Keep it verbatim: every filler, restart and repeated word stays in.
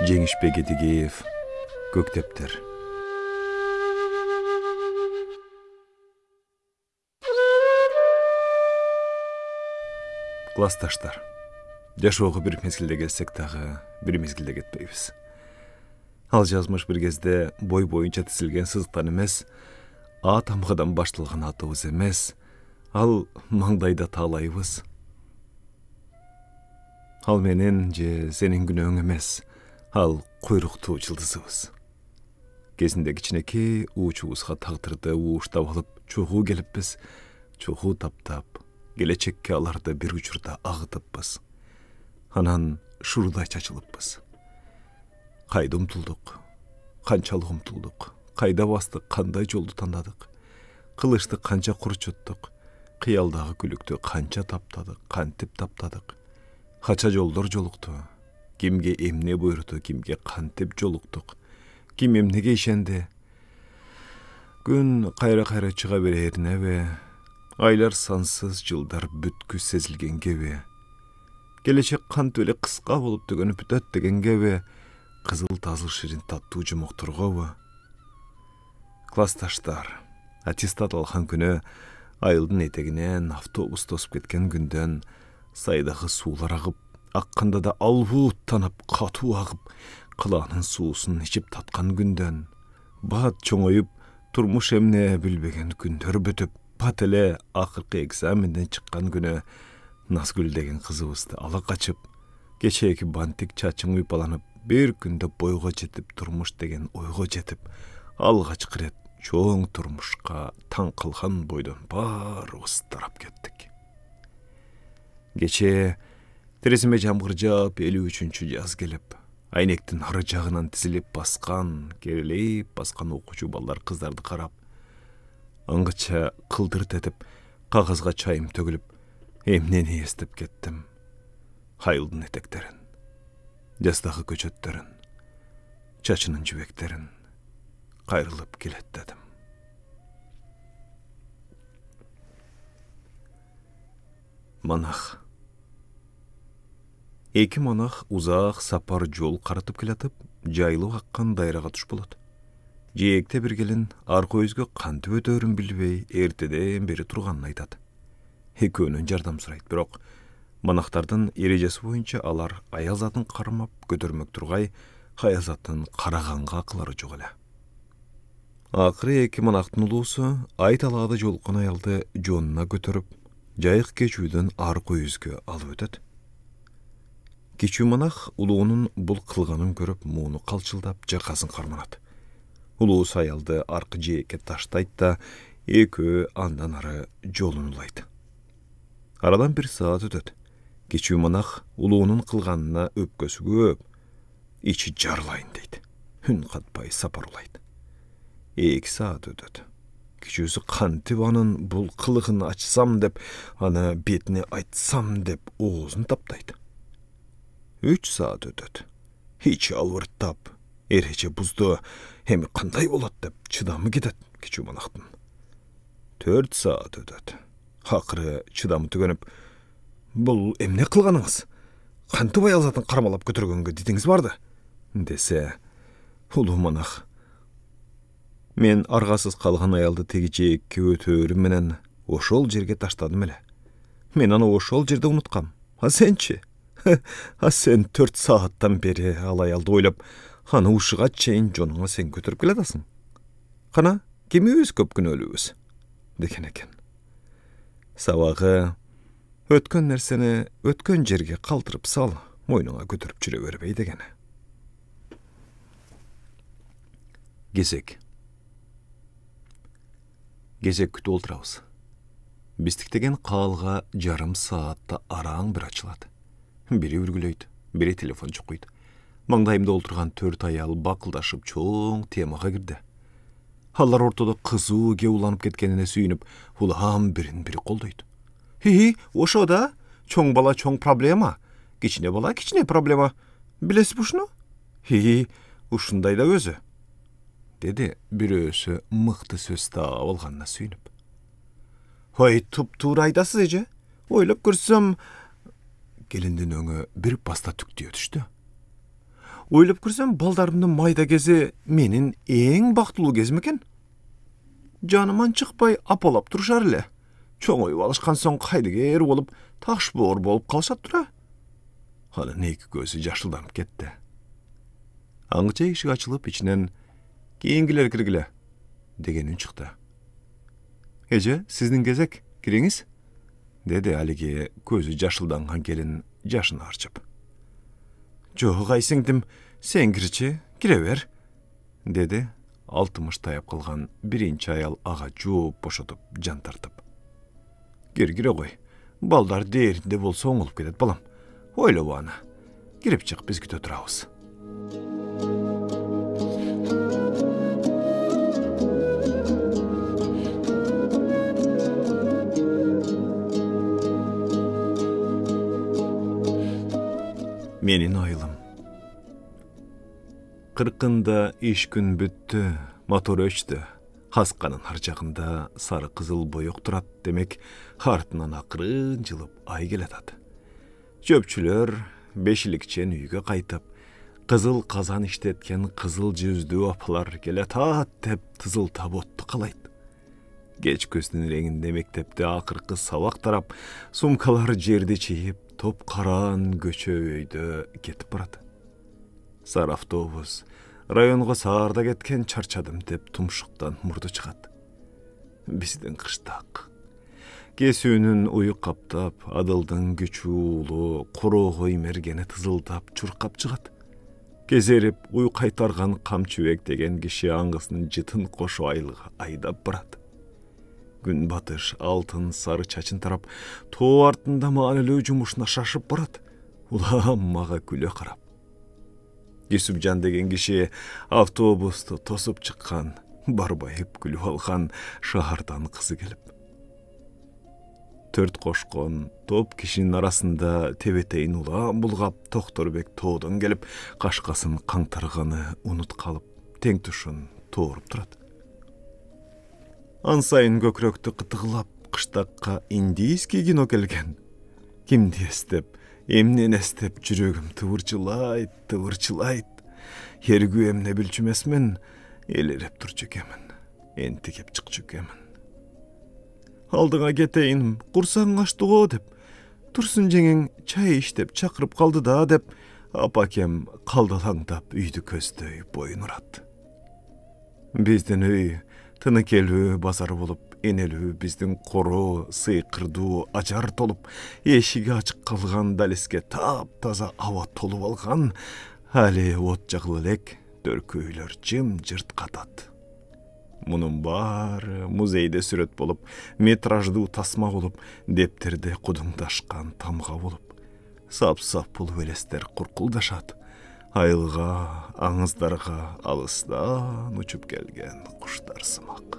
Жеңишбек Эдигеев, Көктептер. Классташтар. Жашоого бир мезгилде келсек дагы, бир мезгилде кетпейбиз. Ал жазмыш бир кезде бой боюнча тизилген сызыктан эмес, А тамгадан башталган атыбыз эмес, ал маңдайда таалайбыз. Ал менин же сенин күнөөң эмес, ал куйруктуу жылдызыбыз. Кезинде кичинекей уучубузга тагдырды ууштап алып чогуу келиппиз, чогуу таптап, келечекке аларды бир учурда агытыппыз. Анан шурудай чачылыппыз. Кайда умтулдук, канчалык умтулдук, кайда бастык, кандай жолду тандадык, кылычты канча курчуттук, кыялдагы күлүктү канча таптадык, кантип таптадык. Кача жолдор жолукту, кимге эмне буйруду, кимге кантип жолуктук, ким эмнеге ишенди. Күн кайра-кайра чыга береринеби, айлар сансыз, жылдар бүткүс сезилгенгеби, келечек кантип эле кыска болуп төгөнүп бүтөт дегенгеби, кызыл тазыл ширин таттуу жумоктургобу. Классташтар, аттестат алган күнү айылдын этегинен автобус тосуп кеткен күндөн сайдагы суулар агып, акканда да албууттанып, катуу агып, кылаанын суусун ичип таткан күндөн, бат чоңоюп, турмуш эмне билбеген күндөр бүтүп, бат эле акыркы экзаменден чыккан күнү Назгүл деген кызыбызды ала качып, кечээки бантик чачың уйпаланып, бир күндө бойго жетип, турмуш деген ойго жетип, алгачкы ирет чоң турмушка таң калган бойдон баарыбыз тарап кеттик. Кечээ тереземе жамгыр жаап, элүү үчүнчү жаз келип, айнектин ары жагынан тизилип баскан, керилейип баскан окуучу балдар кыздарды карап, аңгыча кылдырт этип, кагазга чайым төгүлүп, эмнени эстеп кеттим. Айылдын этектерин, жаздагы көчөттөрүн, чачынын жибектерин кайрылып келеттедим. Монах. Эки монах узак сапар жол каратып келатып, жайылып аккан дайрага туш болот. Жээкте бир келин арка өзгө кантип өтөөрүн билбей, эртеден бери турганын айтат. Экөөнөн жардам сурайт, бирок монахтардын эрежеси боюнча алар аязатын кармап көтөрмөк тургай, аязатын караганга акылары жок эле. Акыры эки монахтын улуусу ай талаада жолуккан аялды жонуна көтөрүп, жайык кечүүдөн арка өзгө алып өтөт. Кичүү монах улуунун бул кылганын көрүп, мууну калчылдап, жакасын карманат. Улуусу аялды аркы жээкке таштайт да, экөө андан ары жолун улайт. Арадан бир саат өтөт. Кичүү монах улуунун кылганына өпкөсү көп, ичи жарылайын дейт. Үн катпай сапар улайт. Эки саат өтөт. Кичүүсү кантип анын бул кылыгын ачсам деп, аны бетине айтсам деп оозун таптайт. Үч саат өтөт. Ичи албырттап, эреже бузду, эми кандай болот деп чыдамы кетет кичүү монахтын. Төрт саат өтөт. Акыры чыдамы түгөнүп, бул эмне кылганыңыз? Кантип аязатын кармалап көтөргөнгө дидиңиз барды? Десе, улуу монах, мен аргасыз калган аялды теги жээкке өтөөрүм менен ошол жерге таштадым эле. Мен аны ошол жерде унуткам. А сенчи? А сен төрт сааттан бери ал аялды ойлоп, аны ушуга чейин жонуңа сен көтөрүп келатасың. Кана, кимибиз көп күнөөлүүбүз? Деген экен. Сабагы, өткөн нерсени өткөн жерге калтырып сал, мойнуңа көтөрүп жүрө бербей дегени. Кезек. Кезек күтүп отурабыз. Биздиктеген каалга жарым саатта араң бир ачылат. Бири үргүлөйт, бири телефон чукуйт. Маңдайымда олтурган төрт аял бакылдашып чоң темага кирди. Алар ортодо кызуу кеп уланып кеткенине сүйүнүп, улам бирин бири колдойт. Хи, ошо да, чоң бала чоң проблема, кичине бала кичине проблема. Билесиз ушуну? Хи, ушундай да өзү. Деди бирөөсү мыкты сөз таап алганына сүйүнүп. Ой, туп-туура айтасыз эже. Ойлоп көрсөм, келиндин өңү бир баста түктүө түштү. Ойлоп көрсөм, балдарымдын майда кези менин эң бактылуу кезим экен. Жаныман чыкпай апалап турушар эле. Чоңоюп алышкан соң кайдыгер болуп, ташбоор болуп калышат тура. Анын эки көзү жашылданып кетти. Аңча ишик ачылып, ичинен "Кийингилер киргиле" деген үн чыкты. "Эже, сиздин кезек, кириңиз" деди алиги көзү жашылданган келин жашын арчып. "Жок, ай сиңдим, сен кирчи, кире бер" деди алтымыш таяп калган биринчи аял ага жооп бошотуп, жан тартып. "Кир, кире кой. Балдар дээринде болсо оңолуп кетет балам. Ойлобо аны. Кирип чык, биз күтө турабыз." Менин айылым. Кыркында иш күн бүттү, мотор өчтү. Асканын ар жагында сары кызыл боек турат, демек артынан акырын жылып ай келатат. Чөпчүлөр бешиликчен үйгө кайтып, кызыл казан иштеткен кызыл жүздүү апалар келатат деп тызылтап отту калайт. Кеч көздүн реңинде мектепте акыркы сабак тарап, сумкалар жерди чийип, топ караан көчө өйдө кетип барат. Сары автобус районго саарда кеткен, чарчадым деп тумшуктан мурду чыгат. Биздин кыштак. Кесүүнүн ую каптап, адылдын күчү уулу, короого имергени тызылдап, чуркап чыгат. Кезерип, уй кайтарган камчыбек деген киши аңгысын жытын кошо айылга айдап барат. Күн батыш алтын сары чачын тарап, тоо артында маанилүү жумушуна шашып барат. Улам мага күлө карап. Юсупжан деген киши автобусту тосуп чыккан, барбайып күлүп алган шаардан кызы келип. Төрт кошкон топ кишинин арасында тебетейин улам булгап, Токторбек тоодон келип, кашкасын каңтарганы унут калып, тең тушун тооруп турат. Ан сайын көкрөктү кытыгылап, кыштакка индийский кино келген. Кимди эстеп, эмнени эстеп жүрөгүм тыбырчылайт, тыбырчылайт. Эргүү эмне билчү эмесмин, элереп турчу экенмин, энтигип чыкчу экенмин. Алдыңа кетейин, курсаң ачтыго деп, Турсун жеңең чай иштеп чакырып калды да деп, апакем калдалаңдап үйдү көздөй боюн урат. Биздин үй тыныкелүү базар болуп, энелүү биздин короо, сыйкырдуу ажар толуп, эшиги ачык калган далеске таап-таза аба толуп алган, али от жагыла элек төркү үйлөр жым-жырт катат. Мунун баары музейде сүрөт болуп, метраждуу тасма болуп, дептерде кудуңдашкан тамга болуп, сап-сап болуп элестер куркулдашат. Айылга, аңыздарга алыстан учуп келген куштар сымак.